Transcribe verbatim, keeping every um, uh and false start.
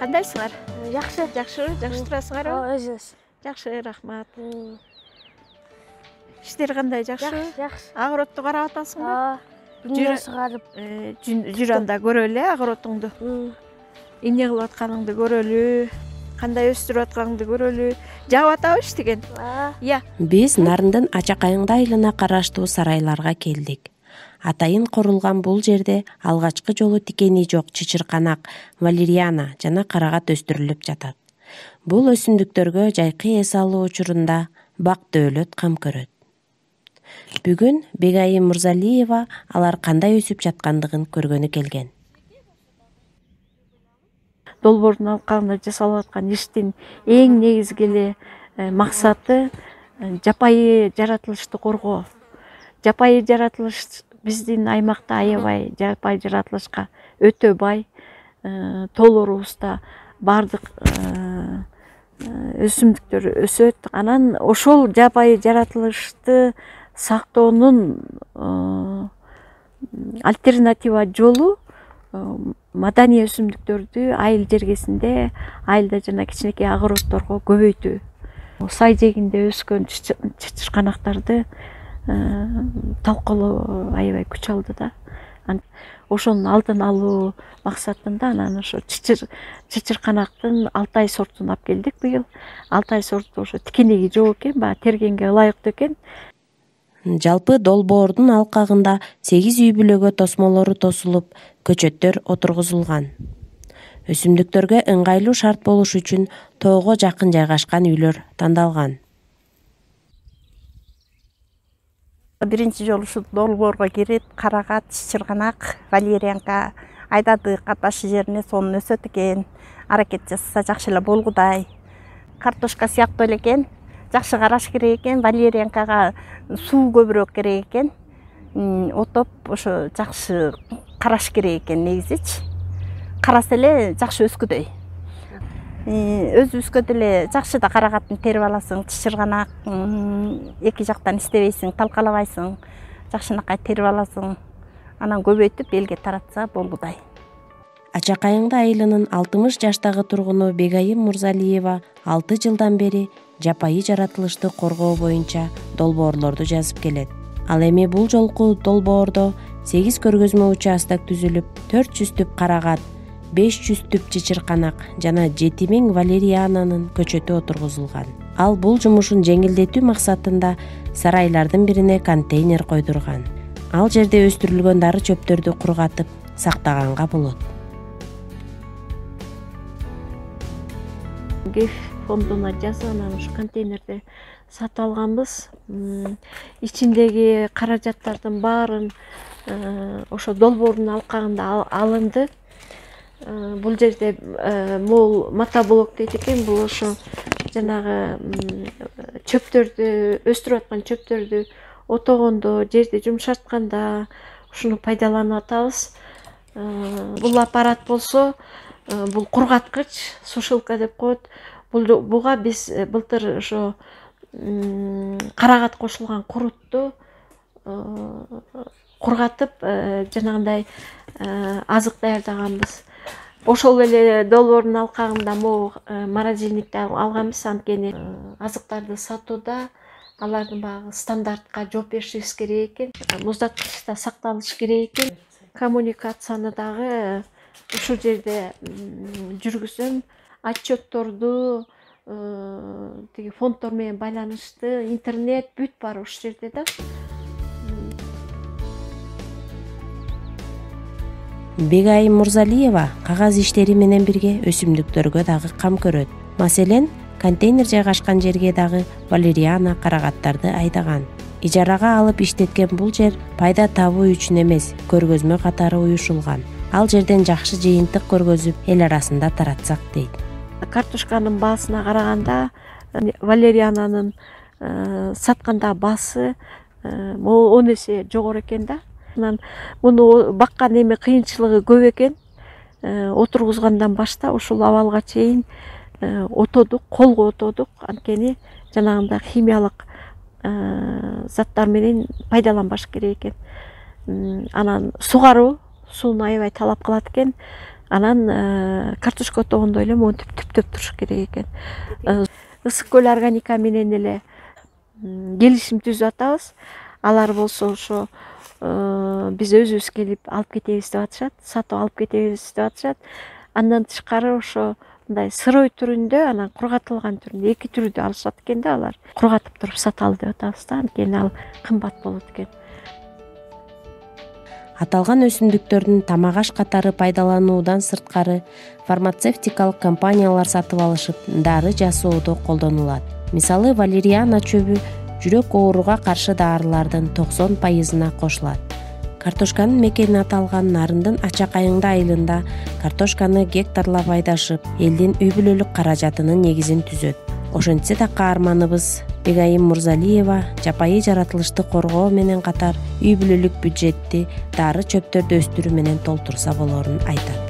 Кандайсыңар? Жакшы. Жакшы, жакшы турасыңарбы? Ооба, өзүбүз. Жакшы, рахмат. Иштер кандай, жакшы? Жакшы. Огородду карап атасыңбы? Ооба. Күндө сугарып. Жүр анда көрөлү огородуңду. Эмне кылып атканыңды көрөлү, кандай өстүрүп атканыңды көрөлү. Жагып атабы иштеген? Ыя. Биз Нарындын Ачакайыңды айылына караштуу сарайларга келдик. Атайын корулган бул жерде алгачкы жолу тикени жок чычырканак, валериана жана карагат өстүрүлүп жатат. Бул өсүмдүктөргө жайкы эс алуу учурунда бак дөөлөт кам көрөт. Бүгүн Бегайым Мурзалиева алар кандай өсүп жаткандыгын көргөнү келген. Долбоордун алкагында жасалып аткан иштин эң негизги эле максаты жапайы жаратылышты коргоо. Жапайы жаратылыш биздин аймакта аябай жапайы жаратылышка өтө бай. Тоолорубузда бардык өсүмдүктөр өсөт. Анан ошол жапайы жаратылышты сактоонун альтернатива жолу маданий өсүмдүктөрдү айыл жергесинде, айылда жана кичинекей огороддорго көбөйтүү. Сай жээгинде өскөн чычырканактарды талкалоо аябай күч алды да. Ошонун алдын алуу максатында анан ошо чычырканактын Алтай сортун алып келдик быйыл. Алтай сорту ошо тикенеги жок экен, баягы тергенге ылайыктуу экен. Жалпы долбоордун алкагында сегиз үй бүлөгө тосмолору тосулуп, көчөттөр отургузулган. Өсүмдүктөргө ыңгайлуу шарт болуш үчүн тоого жакын жайгашкан үйлөр тандалган. Биринчи жолу ушу долбоорго кирип, карагат, чычырканак, валериянка айдадык аташы жерине, сонун өсөт экен. Аракет жасаса жакшы эле болгудай. Картошка сыяктуу эле экен. Жакшы караш керек экен. Валериянкага суу көбүрөөк керек экен. Отоп ошо жакшы караш керек экен негизичи. Караса эле жакшы өскүдөй. Өзүбүзгө деле жакшы да карагатын терип аласың, чычырканак эки жактан истебейсиң, талкалабайсың, жакшынакай терип аласың. Анан көбөйтүп элге таратса болгудай. Ачакайыңды айылынын алтымыш жаштагы тургуну Бегайым Мурзалиева алты жылдан бери жапайы жаратылышты коргоо боюнча долбоорлорду жазып келет. Ал эми бул жолку долбоордо сегиз көргөзмө участок түзүлүп, төрт жүз түп карагат, беш жүз түп чычырканак жана жети миң валериананын көчөтү отургузулган. Ал бул жумушун жеңилдетүү максатында сарайлардын бирине контейнер койдурган. Ал жерде өстүрүлгөн дары чөптөрдү кургатып сактаганга болот. ГЭФ фондуна жазып анан ушу контейнерди сатып алганбыз. Ичиндеги каражаттардын баарын ошо долбоордун алкагында алынды. Бул жерде мол мотоблок дейт экен. Бул ошо жанагы чөптөрдү, өстүрүп аткан чөптөрдү отогондо, жерди жумшартканда ушуну пайдаланып атабыз. Бул аппарат болсо, бул кургаткыч, сушилка деп коет. Буга биз былтыр ошо карагат кошулган курутту кургатып, жанагындай азык даярдаганбыз. Ошол эле долбоордун алкагында могу морозильникти алганбыз, анткени азыктарды сатууда алардын баягы стандартка жооп беришибиз керек экен. Муздаткычта сакталыш керек экен. Коммуникацияны дагы ушул жерде жүргүзөм. Отчетторду, тиги фонддор менен байланышты, интернет бүт бар ушул жерде да. Бегайым Мурзалиева кагаз иштери менен бирге өсүмдүктөргө дагы кам көрөт. Маселен, контейнер жайгашкан жерге дагы валериана карагаттарды айдаган. Ижарага алып иштеткен бул жер пайда табуу үчүн эмес, көргөзмө катары уюшулган. Ал жерден жакшы жыйынтык көргөзүп, эл арасында таратсак дейт. Картошканын баасына караганда валериананын сатканда баасы он эсе жогору экен да. Анан муну баккан эми кыйынчылыгы көп экен. Отургузгандан баштап ушул абалга чейин отодук, колго отодук. Анткени жанагындай химиялык заттар менен пайдаланбаш керек экен. Анан сугаруу, сууну аябай талап кылат экен. Анан картошка отогондой эле монтип түптөп туруш керек экен. Ысык көл органика менен эле келишим түзүп атабыз. Алар болсо ошо биз өзүбүз келип алып кетебиз деп атышат, сатып алып кетебиз деп атышат. Андан тышкары ошо мындай сырой түрүндө, анан кургатылган түрүндө эки түрдүү алышат экен да алар. Кургатып туруп саталы деп атабыз да, анткени ал кымбат болот экен. Аталган өсүмдүктөрдүн тамак аш катары пайдалануудан сырткары фармацевтикалык компаниялар сатып алышып, дары жасоодо колдонулат. Мисалы, валериана чөбү жүрөк ооруга каршы дарылардын токсон пайызына кошулат. Картошканын мекени аталган Нарындын Ачак айыңды айылында картошканы гектарлап айдашып, элдин үй бүлөлүк каражатынын негизин түзөт. Ошентсе да каарманыбыз Бегайым Мурзалиева жапайы жаратылышты коргоо менен катар үй бүлөлүк бюджетти дары чөптөрдү өстүрүү менен толтурса болорун айтат.